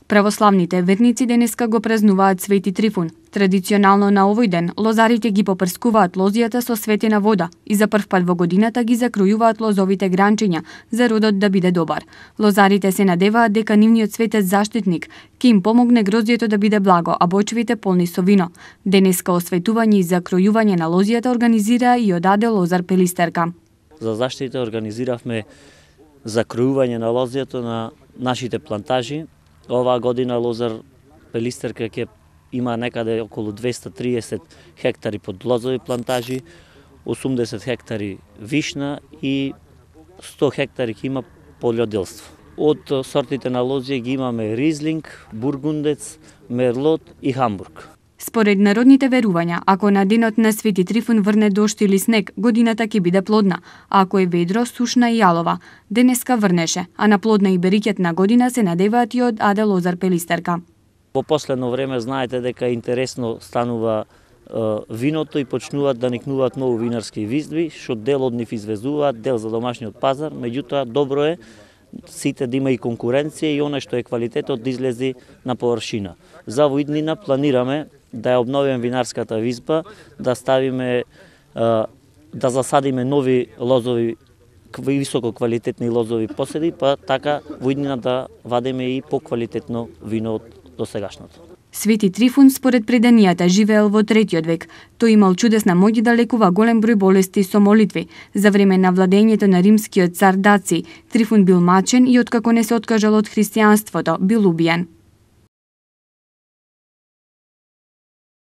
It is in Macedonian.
Православните верници денеска го празнуваат Свети Трифун. Традиционално на овој ден лозарите ги попрскуваат лозијата со светена вода и за прв пат во годината ги закројуваат лозовите гранчиња за родот да биде добар. Лозарите се надеваат дека нивниот светец заштитник ќе им помогне гроздјето да биде благо, а бочвите полни со вино. Денеска осветување и закројување на лозијата организира и од АД Лозар Пелистерка. За заштита организиравме закројување на лозијето на нашите плантажи. Оваа година Лозар Пелистерка ќе има некаде околу 230 хектари под лозови плантажи, 80 хектари вишна и 100 хектари ќе има полјоделство. Од сортите на лозија ги имаме Ризлинг, Бургундец, Мерлот и Хамбург. Според народните верувања, ако на денот на Свети Трифун врне дожд или снег, годината ќе биде плодна, а ако е ведро, сушна и јалова. Денеска врнеше, а на плодна и берикетна година се надеваат и од АД Лозар Пелистерка. Во последно време знаете дека интересно станува виното и почнуваат да никнуваат многу винарски виздби, што дел од нив извезуваат, дел за домашниот пазар, меѓутоа добро е сите да има и конкуренција и оној што е квалитетот да излези на површина. За во иднина планираме да ја обновиме винарската визба, да ставиме да засадиме нови лозови, високо квалитетни лозови поседи, па така во иднина да вадиме и поквалитетно вино од досегашното. Свети Трифун според преданијата живеел во 3 век. Тој имал чудесна моќ да лекува голем број болести со молитви. За време на владењето на римскиот цар Даци, Трифун бил мачен и откако не се откажал од христијанството, бил убиен.